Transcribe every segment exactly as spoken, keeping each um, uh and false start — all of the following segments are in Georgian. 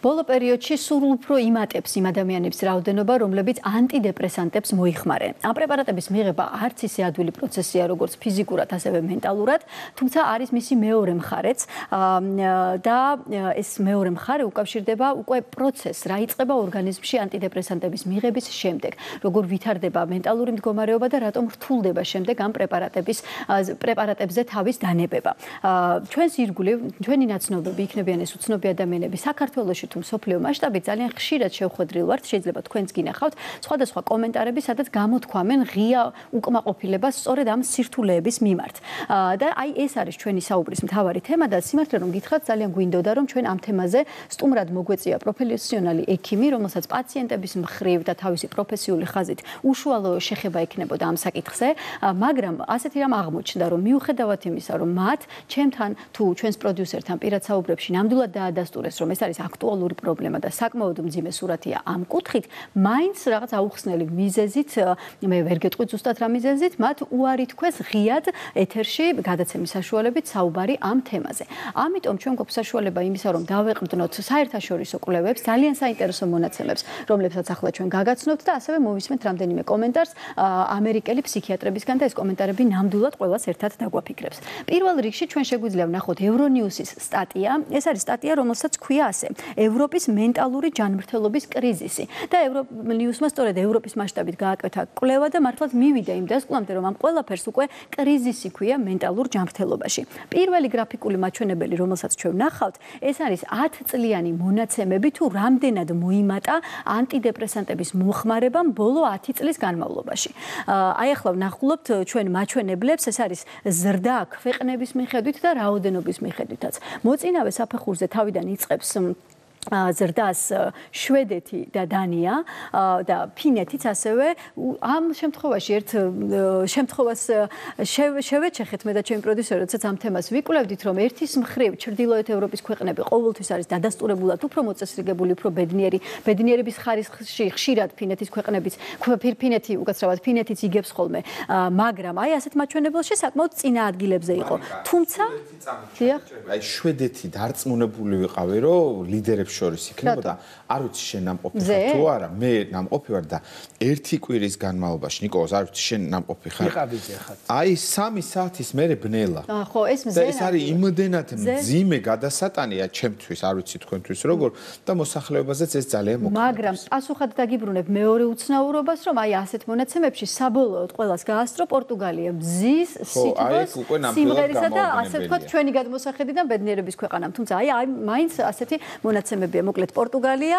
ბოლო პერიოდში სულ უფრო იმატებს იმ ადამიანების რაოდენობა, რომლებიც ანტიდეპრესანტებს მოიხმარენ. ამ პრეპარატების მიღება არც ისე ადვილი პროცესია, როგორც ფიზიკურად, ასევე მენტალურად, თუმცა არის მისი მეორე მხარეც და ეს მეორე მხარე უკავშირდება უკვე პროცესს, რა იწყება ორგანიზმში ანტიდეპრესანტების მიღების შემდეგ, როგორ ვითარდება მენტალური მდგომარეობა და რატომ რთულდება შემდეგ ამ პრეპარატების პრეპარატებზე თავის დანებება. ჩვენს ირგვლივ, ჩვენი ნაცნობები იქნებიან ეს უცნობი ადამიანები საქართველოში თუ მსოფლიო მასშტაბით ძალიან ხშირად შევხვედრილ ვართ, შეიძლება თქვენც გინახავთ სხვადასხვა კომენტარები, სადაც გამოთქვამენ ღია უკმაყოფილებას სწორედ ამ სირთულეების მიმართ. და აი ეს არის ჩვენი საუბრის მთავარი თემა და სიმართლე რომ გითხრათ, ძალიან გვინდოდა რომ ჩვენ ამ თემაზე სტუმრად მოგვეწია პროფესიონალი ექიმი, რომელსაც პაციენტების მხრივ და თავისი პროფესიული ხაზით უშუალო შეხება ექნებოდა ამ საკითხზე, მაგრამ ასეთი რამ აღმოჩნდა, რომ მიუხედავად იმისა, რომ მათ ჩემთან თუ ჩვენს პროდიუსერთან პირად საუბრებში ნამდვილად დაადასტურეს, რომ ეს არის აქტუალური პრობლემა და საკმაოდ მძიმე სურათია ამ კუთხით, მაინც რაღაც აუხსნელი მიზეზით, მე ვერ გეტყვით ზუსტად რა მიზეზით, მათ უარი თქვეს ღიად ეთერში გადაცემის საშუალებით საუბარი ამ თემაზე. ამიტომ ჩვენ გვაქვს საშუალება იმისა, რომ დავეყრდნოთ საერთაშორისო კვლევებს, ძალიან საინტერესო მონაცემებს, რომლებსაც ახლა ჩვენ გაგაცნობთ და ასევე მოვისმენთ რამდენიმე კომენტარს ამერიკელი ფსიქიატრებისგან და ეს კომენტარები ნამდვილად ყველას ერთად დაგვაფიქრებს. პირველ რიგში ჩვენ შეგვიძლია ვნახოთ ევრონიუსის სტატია. ეს არის სტატია, რომელსაც ქვია ასე: ევროპის მენტალური ჯანმრთელობის კრიზისი. და ევრონიუსმა სწორედ ევროპის მასშტაბით გააკეთა კვლევა და მართლაც მივიდა იმ დასკვნამდე, რომ ამ ყველაფერს უკვე კრიზისი ქვია მენტალურ ჯანმრთელობაში. პირველი გრაფიკული მაჩვენებელი, რომელსაც ჩვენ ვნახავთ, ეს არის ათწლიანი მონაცემები თუ რამდენად მოიმატა ანტიდეპრესანტების მოხმარებამ ბოლო ათი წლის განმავლობაში. აი ახლა ვნახულობთ ჩვენ მაჩვენებლებს, ეს არის ზრდა ქვეყნების მიხედვით და რაოდენობის მიხედვითაც. მოწინავე საფეხურზე თავიდან იწყებს ზრდას შვედეთი და დანია და ფინეთიც ასევე ამ შემთხვევაში ერთ შემთხვევას შევეჩეხეთ მე და ჩემი პროდიუსერი, როდესაც ამ თემას ვიკვლევდით, რომ ერთის მხრივ ჩრდილოეთ ევროპის ქვეყნები ყოველთვის არის დადასტურებულად უფრო მოწესრიგებული, უფრო ბედნიერი, ბედნიერების ხარისხში ხშირად ფინეთის ქვეყნებიც, ფინეთი უკაცრავად ფინეთიც იგებს ხოლმე, მაგრამ აი ასეთ მაჩვენებელში საკმაოდ წინა ადგილებზე იყო. თუმცა აი შვედეთი დარწმუნებული ვიყავი, რომ ლიდერებს შორის იქნებოდა, არ ვიცი შენ ნამყოფი ხარ თუ არა, მე ნამყოფი ვარ და ერთი კვირის განმავლობაში, ნიკოლოზ, არ ვიცი შენ ნამყოფი ხარ. იყავიძე ხარ. აი სამი საათის მერე ბნელა. ხო, ეს მზენა. ეს არის იმდენად მძიმე გადასატანია ჩემთვის, არ ვიცი თქვენთვის როგორ და მოსახლეობაზეც ეს ძალიან მოქმედებს. მაგრამ პასუხად დაგიბრუნებ მეორე უცნაურობას, რომ აი ასეთ მონაცემებში საბოლოოდ ყველას გაასწრო პორტუგალია მზის, სითბოს, სიმღერისა და ასე ვთქვათ ჩვენი გადმოსახედიდან ბედნიერების ქვეყანამ. თუმცა აი აი მაინც ასეთი მონაცემებია. მოკლედ პორტუგალია,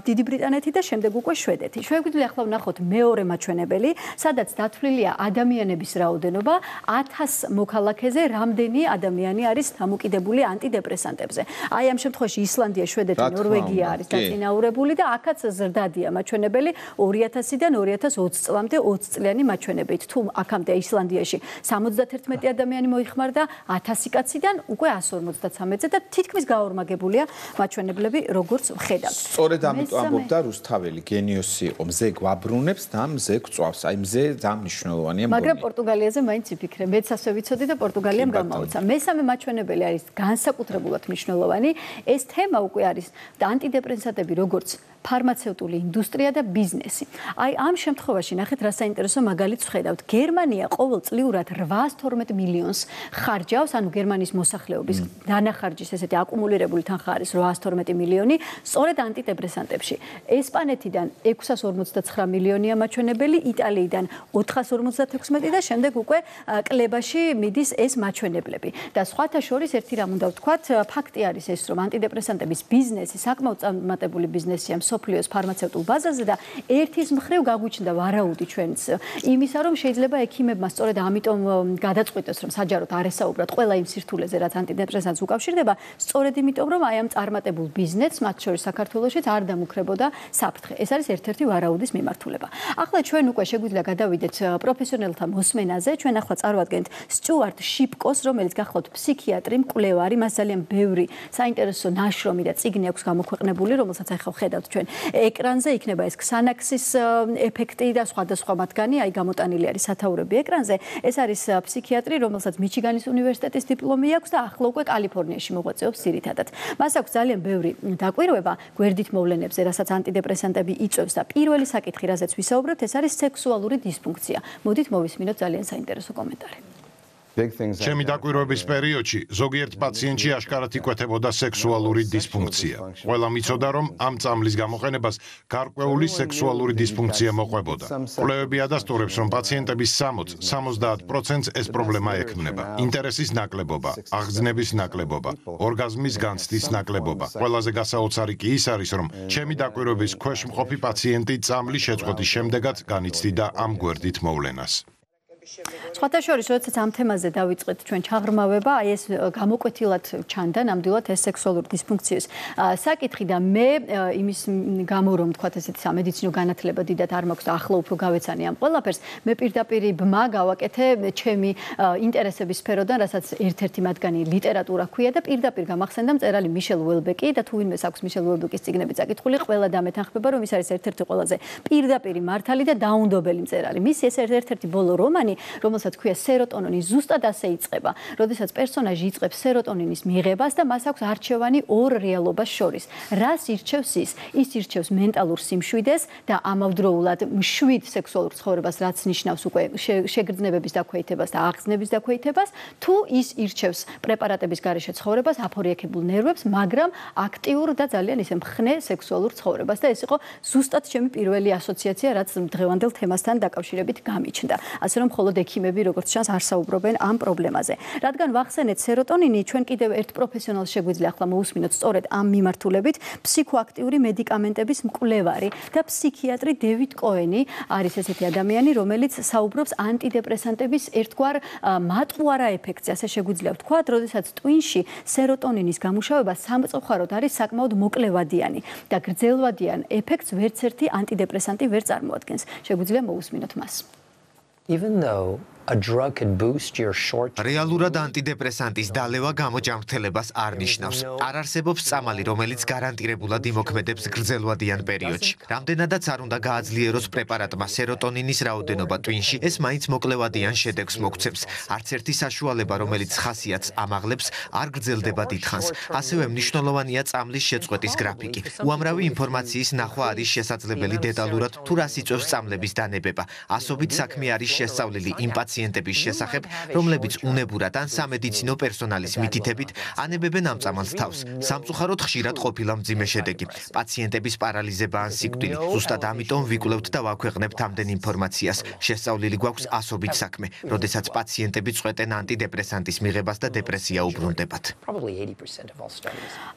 დიდი ბრიტანეთი და შემდეგ უკვე შვედეთი. შეგვიძლია ახლა ვნახოთ მეორე მაჩვენებელი, სადაც დათვლილია ადამიანების რაოდენობა ათას მოქალაქეზე, რამდენი ადამიანი არის დამოკიდებული ანტიდეპრესანტებზე. აი ამ შემთხვევაში ისლანდია, შვედეთი, ნორვეგია არის დაწინაურებული და აქაც ზრდადია მაჩვენებელი ორი ათასიდან ორი ათას ოცი წლამდე ოცი წლიანი მაჩვენებით. თუ აქამდე ისლანდიაში სამოცდაათერთმეტი ადამიანი მოიხმარდა ათასი კაციდან უკვე ასი ორმოცდათრამეტზე და თითქმის გაორმაგებულია მაჩვენებლები როგორც ვხედავთ. სწორედ ამიტომ ამბობდა რუსთაველი, გენიოსი იყო, მზე გვაბრუნებს და მზე გვწვავს. აი მზე ძალიან მნიშვნელოვანია მგონი. მაგრამ პორტუგალიაზე მაინც ვიფიქრე, მეც ასე ვიცოდი და პორტუგალიამ გამაუცა. მესამე მაჩვენებელი არის განსაკუთრებულად მნიშვნელოვანი. ეს თემა უკვე არის ანტიდეპრესანტები როგორც ფარმაცევტული ინდუსტრია და ბიზნესი. აი ამ შემთხვევაში ნახეთ რა საინტერესო მაგალითს ვხედავთ. გერმანია ყოველწლიურად რვაას თორმეტ მილიონს ხარჯავს, ანუ გერმანიის მოსახლეობის დანახარჯის ესეთი აკუმულირებული თანხა არის რვაას თორმეტი მილიონი, სწორედ ანტიდეპრესანტებში. ესპანეთიდან ექვსას ორმოცდაცხრა მილიონია მაჩვენებელი, იტალიიდან ოთხას ორმოცდათექვსმეტი და შემდეგ უკვე კლებაში მიდის ეს მაჩვენებლები. და სხვათა შორის ერთი რამ უნდა ვთქვათ, ფაქტი არის ეს, რომ ანტიდეპრესანტების ბიზნესი საკმაოდ წარმატებული ბიზნესია სოფლიოს ფარმაცევტულ ბაზაზე და ერთის მხრივ გაგვიჩნდა ვარაუდი ჩვენც იმისა, რომ შეიძლება ექიმებმა სწორედ ამიტომ გადაწყვიტეს, რომ საჯაროდ არ ესაუბრათ ყველა იმ სირთულეზე, რაც ანტიდეპრესანტს უკავშირდება, სწორედ იმიტომ, რომ აი ამ წარმატებულ ბიზნესს, მათ შორის საქართველოშიც არ დამუქრებოდა საფრთხე. ეს არის ერთ-ერთი ვარაუდის მიმართულება. ახლა ჩვენ უკვე შეგვიძლია გადავიდეთ პროფესიონალთა მოსმენაზე. ჩვენ ახლა წარვადგენთ სტიუარტ შიპკოს, რომელიც გახლავთ ფსიქიატრი, მკვლევარი, მას ძალიან ბევრი საინტერესო ნაშრომი და წიგნი აქვს გამოქვეყნებული, რომელსაც ახლა ვხედავთ ჩვენ ეკრანზე, იქნება ეს ქსანაქსის ეფექტი და სხვადასხვა მათგანი, აი გამოტანილი არის სათაურები ეკრანზე. ეს არის ფსიქიატრი, რომელსაც მიჩიგანის უნივერსიტეტის დიპლომი აქვს და ახლა უკვე კალიფორნიაში მოღვაწეობს ძირითადად. მას აქვს ძალიან ბევრი დაკვირვება გვერდით მოვლენებზე, რასაც ანტიდეპრესანტები იწვევს და პირველი საკითხი, რაზეც ვისაუბრებთ, ეს არის სექსუალური დისფუნქცია. მოდით მოვისმინოთ ძალიან საინტერესო კომენტარი. ჩემი დაკვირვების პერიოდში ზოგიერთ პაციენტში აშკარად იკვეთებოდა სექსუალური დისფუნქცია. ყველა მიცოდა, რომ ამ წამლის გამოყენებას გარკვეული სექსუალური დისფუნქცია მოყვებოდა. კვლევები ადასტურებს, რომ პაციენტების სამოცს სამოცდაათ პროცენტს ეს პრობლემა ექმნება. ინტერესის ნაკლებობა, აღგზნების ნაკლებობა, ორგაზმის განცდის ნაკლებობა. ყველაზე გასაოცარი კი ის არის, რომ ჩემი დაკვირვების ქვეშ მყოფი პაციენტი წამლის შეწყვეტის შემდეგაც განიცდიდა ამ გვერდით მოვლენას. სხვათა შორის, როდესაც ამ თემაზე დავიწყეთ ჩვენ ჩაღრმავება, აი ეს გამოკვეთილად ჩანდა ნამდვილად ეს სექსუალური დისფუნქციის საკითხი და მე იმის გამო რომ თქვათ ესეთი სამედიცინო განათლება დიდად არ მაქვს და ახლა უფრო გავეცანი ამ ყველაფერს, მე პირდაპირ ბმა გავაკეთე ჩემი ინტერესების სფეროდან, რასაც ერთ-ერთი მათგანი ლიტერატურა ჰქვია და პირდაპირ გამახსენდა მწერალი მიშელ უელბეკი და თუ ვინმეს აქვს მიშელ უელბეკის წიგნები წაკითხული, ყველა დამეთანხმება, რომ ის არის ერთ-ერთი ყველაზე პირდაპირ მართალი და დაუნდობელი მწერალი. მის ეს ერთ-ერთი ბოლო რომანი, რომელსაც ქვია სეროტონინი, ზუსტად ასე იწყება. როდესაც პერსონაჟი იწყებს სეროტონინის მიღებას და მას აქვს არჩევანი ორ რეალობას შორის. რას ირჩევს ის? ის ირჩევს მენტალურ სიმშვიდეს და ამავდროულად მშვიდ სექსუალურ ცხოვრებას, რაც ნიშნავს უკვე შეგრძნებების დაქვეითებას და აღგზნების დაქვეითებას, თუ ის ირჩევს პრეპარატების გარეშე ცხოვრებას, აფორიაქებულ ნერვებს, მაგრამ აქტიურ და ძალიან ისე მხნე სექსუალურ ცხოვრებას და ეს იყო ზუსტად ჩემი პირველი ასოციაცია, რაც დღევანდელ თემასთან დაკავშირებით გამიჩნდა. ასე რომ მხოლოდ ექიმები როგორც ჩანს არ საუბრობენ ამ პრობლემაზე. რადგან ვახსენეთ სეროტონინი, ჩვენ კიდევ ერთ პროფესიონალს შეგვიძლია ახლა მოусმინოთ სწორედ ამ მიმართულებით, ფსიქოაქტიური მედიკამენტების მკვლევარი და ფსიქიატრი დევიდ კოენი არის ესეთი ადამიანი, რომელიც საუბრობს ანტიდეპრესანტების ერთგვარ მატყუარა ეფექტზე, ასე შეგვიძლია ვთქვათ, როდესაც ტვინში სეროტონინის გამუშავება სამწუხაროდ არის საკმაოდ მოკლევადიანი და გრძელვადიან ეფექტს ვერც ერთი ანტიდეპრესანტი ვერ წარმოადგენს. შეგვიძლია მოусმინოთ მას. Even though a drug could boost your short რეალურად ანტიდეპრესანტის დალევა გამოჯანმრთელებას არ ნიშნავს. არ არსებობს წამალი, რომელიც გარანტირებულად იმოქმედებს გრძელვადიან პერიოდში. რამდენადაც არ უნდა გააძლიეროს პრეპარატმა სეროტონინის რაოდენობა ტვინში, ეს მაინც მოკლევადიან შედეგს მოგცემს. არც ერთი საშუალება, რომელიც ხასიათს ამაღლებს, არ გრძელდება დიდხანს. ასევე მნიშვნელოვანია წამლის შეწყვეტის გრაფიკი. უამრავი ინფორმაციის ნახვა არის შესაძლებელი დეტალურად, თუ რას იწვევს წამლების დანებება. ასობით საქმე არის შესწავლილი იმ პაციენტების შესახებ, რომლებიც უნებურად ან სამედიცინო პერსონალის მითითებით ანებებენ ამ წამალს თავს. სამწუხაროდ ხშირად ყოფილა მძიმე შედეგი. პაციენტების პარალიზება ან სიკვდილი. ზუსტად ამიტომ ვიკვლევთ და ვაქვეყნებთ ამდენ ინფორმაციას. შესწავლილი გვაქვს ასობით საქმე, როდესაც პაციენტები წვეტენ ანტიდეპრესანტის მიღებას და დეპრესია უბრუნდებათ.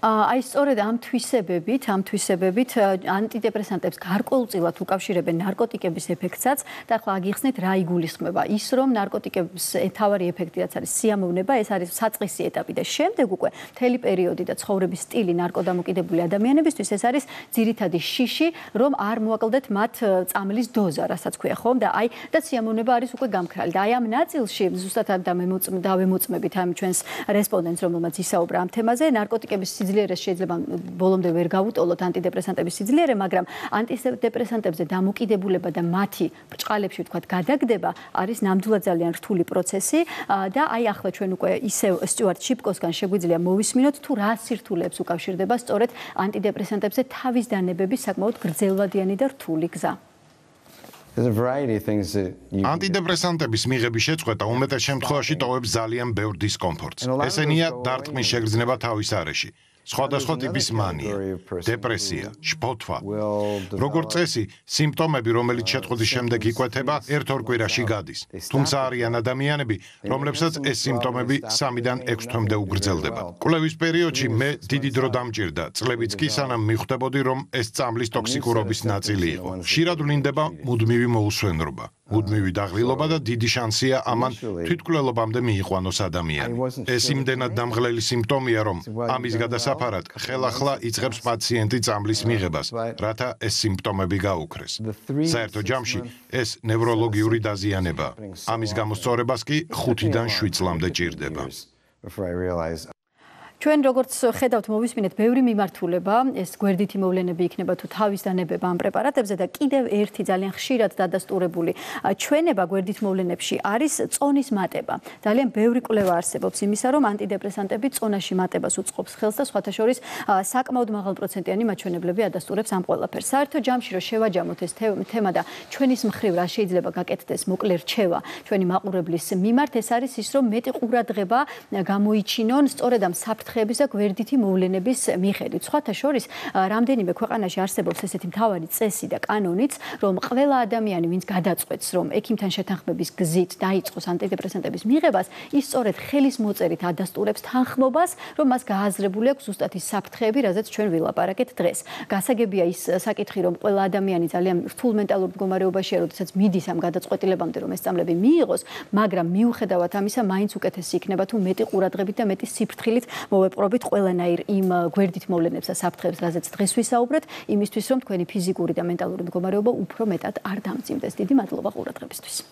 აი სწორედ ამ თვისებებით, ამ თვისებებით ანტიდეპრესანტებს გარკვეულწილად უკავშირებენ ნარკოტიკების ეფექტსაც და ახლა აგიხსნით რა იგულისხმება. ის რომ ნარკოტიკების თავარი ეფექტი რაც არის სიამოვნება, ეს არის საწყისი ეტაპი და შემდეგ უკვე მთელი პერიოდი და ცხოვრების სტილი ნარკოდამოკიდებული ადამიანებისთვის ეს არის ძირითადი შიში, რომ არ მოაკლდეთ მათ წამლის დოზა, რასაც ქვია ხომ და აი და სიამოვნება არის უკვე გამქრალი. და აი ამ ნაწილში ზუსტად დავემოწმებით ამ ჩვენს რესპონდენტს, რომელმაც ისაუბრა ამ თემაზე, ნარკოტიკების სიძლიერეს შეიძლება ბოლომდე ვერ გავუტოლოთ ანტიდეპრესანტების სიძლიერე, მაგრამ ანტიდეპრესანტებზე დამოკიდებულება და მათი ბრჭყალებში ვთქვათ გადაგდება არის ნამდვილად ძალიან რთული პროცესი და აი ახლა ჩვენ უკვე ისევ სტიუარტ შიპკოსგან შეგვიძლია მოვისმინოთ თუ რა სირთულეებს უკავშირდება სწორედ ანტიდეპრესანტებზე თავის დანებების საკმაოდ გრძელვადიანი და რთული გზა. ანტიდეპრესანტების მიღების შეწყვეტა უმეტეს შემთხვევაში ტოვებს ძალიან ბევრ დისკომფორტს. ესენია დარტყმის შეგრძნება თავის არეში. სხვადასხვა ტიპის მანია, დეპრესია, შფოთვა. როგორც წესი, სიმპტომები, რომელიც შეწყვეტის შემდეგ იკვეთება, ერთ-ორ კვირაში გადის. თუმცა არიან ადამიანები, რომლებსაც ეს სიმპტომები სამიდან ექვს თვემდე უგრძელდება. კვლევის პერიოდში მე დიდი დრო დამჭირდა, წლებიც კი სანამ მიხვდებოდი, რომ ეს წამლის ტოქსიკურობის ნაწილი იყო. ხშირად ვლინდება მუდმივი მოუსვენრობა, მუდმივი დაღლილობა და დიდი შანსია ამან თვითმკვლელობამდე მიიყვანოს ადამიანი. ეს იმდენად დამღლელი სიმპტომია, რომ ამის გადასაფარად ხელახლა იწყებს პაციენტი წამლის მიღებას, რათა ეს სიმპტომები გაუქრეს. საერთო ჯამში ეს ნევროლოგიური დაზიანებაა. ამის გამოსწორებას კი ხუთიდან შვიდ წლამდე ჭირდება. ჩვენ როგორც ხედავთ, მოვისმინეთ ბევრი მიმართულება, ეს გვერდითი მოვლენები იქნება თუ თავის დანებება ამ პრეპარატებზე და კიდევ ერთი ძალიან ხშირად დადასტურებული ჩვენება გვერდით მოვლენებში არის წონის მატება. ძალიან ბევრი კვლევა არსებობს იმისა, რომ ანტიდეპრესანტები წონაში მატებას უწყობს ხელს და სხვათა შორის საკმაოდ მაღალპროცენტიანი მაჩვენებლები ადასტურებს ამ ყველაფერს. საერთო ჯამში რომ შევაჯამოთ ეს თემა და ჩვენის მხრივ რა შეიძლება გაკეთდეს მოკლე რჩევა ჩვენი მაყურებლის მიმართ, ეს არის ის, რომ მეტი ყურადღება გამოიჩინონ სწორედ ამ საფრთხეების და გვერდითი მოვლენების მიხედვით. სხვათა შორის, რამდენიმე ქვეყანაში არსებობს ესეთი მთავარი წესი და კანონიც, რომ ყველა ადამიანი, ვინც გადაწყვეტს, რომ ექიმთან შეთანხმების გზით დაიწყოს ანტიდეპრესანტების მიღებას, ის სწორედ ხელის მოწერით ადასტურებს თანხმობას, რომ მას გააზრებული აქვს ზუსტად ის საფრთხეები, რაზეც ჩვენ ვილაპარაკეთ დღეს. გასაგებია ის საკითხი, რომ ყველა ადამიანი ძალიან რთულ მენტალურ მდგომარეობაშია, როდესაც მიდის ამ გადაწყვეტილებამდე, რომ ეს სწავლები მიიღოს, მაგრამ მიუხედავად ამისა, მაინც უკეთესი იქნება თუ მეტი ყურადღებით და მეტი სიფრთხილით მოვეპყრობით ყველანაირ იმ გვერდით მოვლენებს და საფრთხეებს, რაზეც დღეს ვისაუბრეთ, იმისთვის, რომ თქვენი ფიზიკური და მენტალური მდგომარეობა უფრო მეტად არ დამძიმდეს. დიდი მადლობა ყურადღებისთვის.